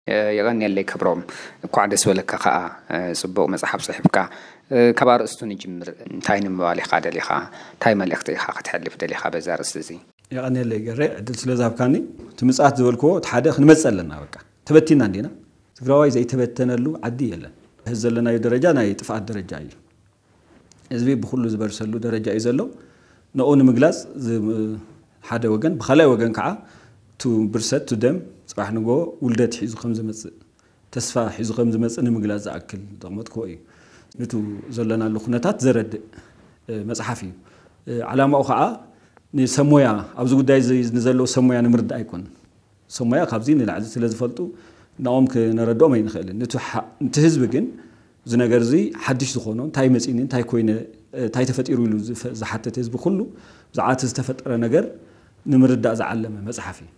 የቐንየለይ ክብሮም፣ እኳዕ ደስ በለካ ከኣ። ጽቡቕ መጽሓፍ ጽሒፍካ። ካብ ኣርእስቱ ንጅምር። እንታይ ንምባል ኢኻ ደሊኻ? እንታይ መልእኽቲ ኢኻ ከተሕልፍ ደሊኻ በዛ ኣርእስቲ እዚ? የቐንየለይ ገሬ፣ ዕድል ስለ ዝሃብካኒ። እቲ ምጽኣት ዝበልክዎ፣ እቲ ሓደ ክንመጽእ ኣለና። በቃ ተበቲና እንዲና። ትግራዋይ ዘይተበተነሉ ዓዲ የለን። እዚ ዘለናዮ ደረጃ ናይ ጥፍኣት ደረጃ እዩ። ህዝቢ ብኩሉ ዝበርሰሉ ደረጃ እዩ ዘሎ። ንኡ ንምግላጽ ዝ- ሓደ ወገን፣ ብኻልኣይ ወገን ከዓ ቱ ብርሰት ቱ ደም ጽባሕ ንጎ ውልደት ሒዙ ከም ዝመጽእ፣ ተስፋ ሒዙ ከም ዝመጽእ ንምግላጽ ዝኣክል ዘቕመጥክዎ እዩ። ንቱ ዘለናሉ ኩነታት ዘረድእ መጽሓፍ እዩ። ዓላማኡ ከዓ ንሰሞያ፣ ኣብዚ ጉዳይ ንዘለዉ ሰሞያ ንምርዳእ ኣይኮን። ሰሞያ ካብዚ ንላዕሊ ስለ ዝፈልጡ ናኦም ክነረድኦም ኣይንኽእልን። ንቲ ህዝቢ ግን እዚ ነገር እዚ ሓድሽ ዝኾኖ፣ እንታይ መፂኒ፣ እንታይ ኮይነ፣ እንታይ ተፈጢሩ ኢሉ ዝሓተተ ህዝቢ ኩሉ ብዛዕባ እቲ ዝተፈጠረ ነገር ንምርዳእ ዝዓለመ መፅሓፍ እዩ።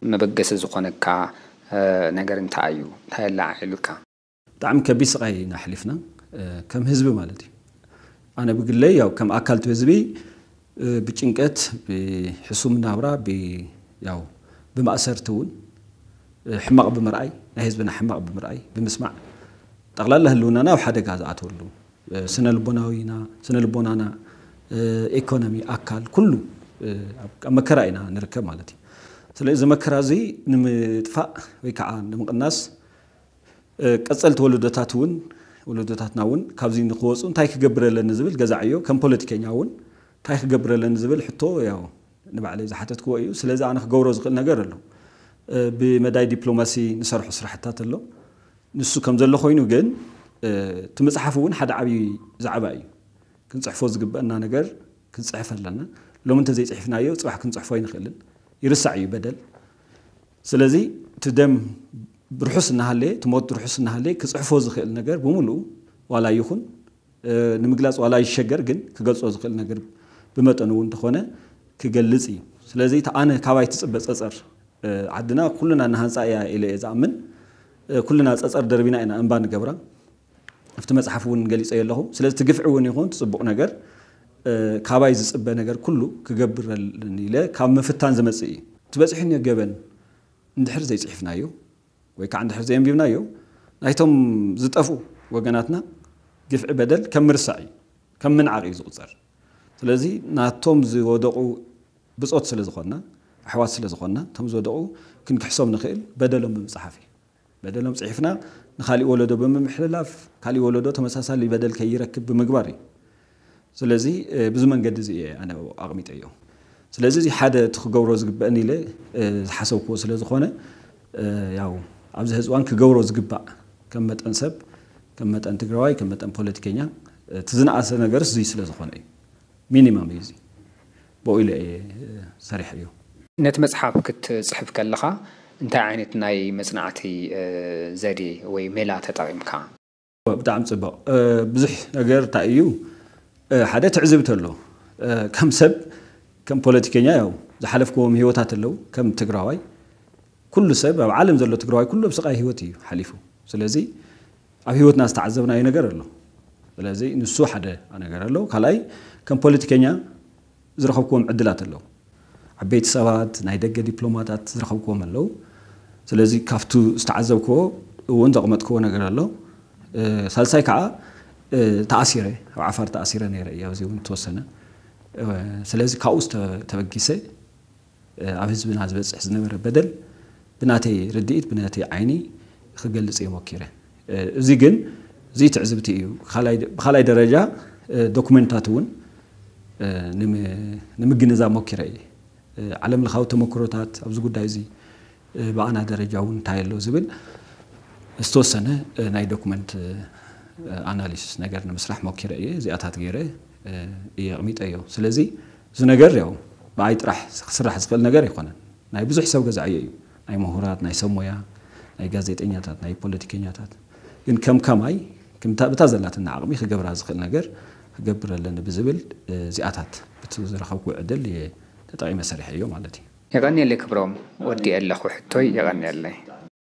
መበገሲ ዝኾነካ ነገር እንታይ እዩ? እንታይ ኣላዓዒሉካ? ብጣዕሚ ከቢድ ስቓይ ኢና ኣሕሊፍና፣ ከም ህዝቢ ማለት እዩ። ኣነ ብግለይ ያው ከም ኣካል እቲ ህዝቢ ብጭንቀት፣ ብሕሱም ናብራ፣ ያው ብማእሰርቲ እውን፣ ሕማቕ ብምርኣይ፣ ናይ ህዝብና ሕማቕ ብምርኣይ ብምስማዕ፣ ጠቕላላ ህልውናና ኣብ ሓደጋ ዝኣተወሉ፣ ስነ ልቦናዊና፣ ስነ ልቦናና፣ ኢኮኖሚ፣ ኣካል ኩሉ ኣብ መከራ ኢና ንርከብ ማለት እዩ። ስለዚ እዚ መከራ እዚ ንምጥፋእ ወይ ከዓ ንምቕናስ፣ ቀፀልቲ ወለዶታት እውን፣ ወለዶታትና እውን ካብዚ ንክወፁ እንታይ ክገብር ኣለኒ ዝብል ገዛዕዮ ከም ፖለቲከኛ እውን እንታይ ክገብር ኣለኒ ዝብል ሕቶ ያው ንባዕለይ ዝሓተትክዎ እዩ። ስለዚ ኣነ ክገብሮ ዝኽእል ነገር ኣሎ። ብመዳይ ዲፕሎማሲ ንሰርሖ ስራሕታት ኣሎ። ንሱ ከም ዘሎ ኮይኑ ግን እቲ መፅሓፍ እውን ሓደ ዓብዪ ዛዕባ እዩ። ክንፅሕፎ ዝግበአና ነገር ክንፅሕፍ ኣለና። ሎሚ እንተዘይፅሒፍናዮ ፅባሕ ክንፅሕፎ ኣይንኽእልን። ይርሳዕ እዩ በደል። ስለዚ እቲ ደም ርሑስ እናሃለየ፣ እቲ ሞት ርሑስ እናሃለየ ክፅሕፎ ዝኽእል ነገር ብምሉኡ ዋላ ይኹን ንምግላፅ ዋላ ይሸገር፣ ግን ክገልፆ ዝኽእል ነገር ብመጠኑ እውን እንተኾነ ክገልፅ እዩ። ስለዚ እቲ ኣነ ካባይ ትፅበ ፀፀር፣ ዓድና ኩልና እናሃንፃ እያ ኢለ እየ ዝኣምን። ኩልና ፀፀር ደርቢና ኢና እንባ ንገብራ። ኣብቲ መፅሓፍ እውን ገሊፀዮ ኣለኹ። ስለዚ እቲ ግፍዒ እውን ይኹን እቲ ፅቡቕ ነገር ካባይ ዝፅበ ነገር ኩሉ ክገብር ኣለኒ ኢለ ካብ ምፍታን ዝመፅእ እዩ። እቲ በፂሑኒ ገበን እንድሕር ዘይፅሒፍናዮ ወይ ከዓ እንድሕር ዘየንቢብናዮ ናይቶም ዝጠፍኡ ወገናትና ግፍዒ በደል ከም ምርሳዕ እዩ፣ ከም ምንዓቕ እዩ ዝቑፀር። ስለዚ ናቶም ዝወደቑ ብፆት ስለ ዝኾንና፣ ኣሕዋት ስለ ዝኾንና፣ እቶም ዝወደቑ ክንክሕሶም ንኽእል በደሎም ብምፅሓፍ እዩ። በደሎም ፅሒፍና ንካሊእ ወለዶ ብምምሕልላፍ፣ ካሊእ ወለዶ ተመሳሳሊ በደል ከይረክብ ብምግባር እዩ። ስለዚ ብዚ መንገዲ እዚ እየ ኣነ ኣቕሚጠዮ። ስለዚ እዚ ሓደ እቲ ክገብሮ ዝግበእን ኢለ ዝሓሰብክዎ ስለ ዝኾነ፣ ያው ኣብዚ ሕዚ እዋን ክገብሮ ዝግባእ ከም መጠን ሰብ፣ ከም መጠን ትግራዋይ፣ ከም መጠን ፖለቲከኛ እቲ ዝነኣሰ ነገርስ እዚ ስለ ዝኾነ እዩ። ሚኒማም እዩ እዚ። ብኡ ኢለ እየ ሰሪሐዮ። ነቲ መፅሓፍ ክትፅሕፍ ከለኻ እንታይ ዓይነት ናይ መፅናዕቲ ዘዴ ወይ ሜላ ተጠቒምካ? ብጣዕሚ ፅቡቕ። ብዙሕ ነገር እንታይ እዩ? ሓደ ትዕዝብቲ ኣሎ። ከም ሰብ፣ ከም ፖለቲከኛ ያው ዝሓለፍክዎም ህይወታት ኣለዉ። ከም ትግራዋይ ኩሉ ሰብ ኣብ ዓለም ዘሎ ትግራዋይ ኩሉ ኣብ ስቓይ ህይወት እዩ ሓሊፉ። ስለዚ ኣብ ህይወትና ዝተዓዘብናዮ ነገር ኣሎ። ስለዚ ንሱ ሓደ ነገር ኣሎ። ካልኣይ ከም ፖለቲከኛ ዝረኸብክዎም ዕድላት ኣለዉ። ዓበይቲ ሰባት፣ ናይ ደገ ዲፕሎማታት ዝረኸብክዎም ኣለዉ። ስለዚ ካብቱ ዝተዓዘብክዎ እውን ዘቕመጥክዎ ነገር ኣሎ። ሳልሳይ ከዓ ተኣሲረ፣ ኣብ ዓፋር ተኣሲረ ነይረ እየ፣ ኣብዚ እውን ተወሰነ። ስለዚ ካብኡ ተበጊሰ ኣብ ህዝብና ዝበፅሕ ዝነበረ በደል ብናተይ ርድኢት፣ ብናተይ ዓይኒ ክገልፅ እየ ሞኪረ። እዚ ግን እዚ ትዕዝብቲ እዩ። ብካልኣይ ደረጃ ዶኩመንታት እውን ንምግንዛብ ሞኪረ እየ። ዓለም ለኻዊ ተመክሮታት ኣብዚ ጉዳይ እዚ ብኣና ደረጃ እውን እንታይ ኣሎ ዝብል ዝተወሰነ ናይ ዶኩመንት ኣናሊሲስ ነገር ንምስራሕ ሞኪረ እየ። እዚኣታት ገይረ እየ ኣቕሚጠዮ። ስለዚ እዚ ነገር ያው ብኣይ ጥራሕ ክስራሕ ዝኽእል ነገር ኣይኮነን። ናይ ብዙሕ ሰብ ገዛዕዮ እዩ። ናይ ምሁራት፣ ናይ ሰብ ሞያ፣ ናይ ጋዜጠኛታት፣ ናይ ፖለቲከኛታት። ግን ከም ከማይ ብታ ዘላትና ዓቕሚ ክገብራ ዝኽእል ነገር ክገብር ኣለኒ ብዝብል እዚኣታት ብቲ ዝረኸብኩ ዕድል እየ ተጠቒመ ሰሪሐዮ ማለት እዩ። የቐንየለይ ክብሮም፣ ወዲኤ ኣለኹ ሕቶይ፣ የቐንየለይ።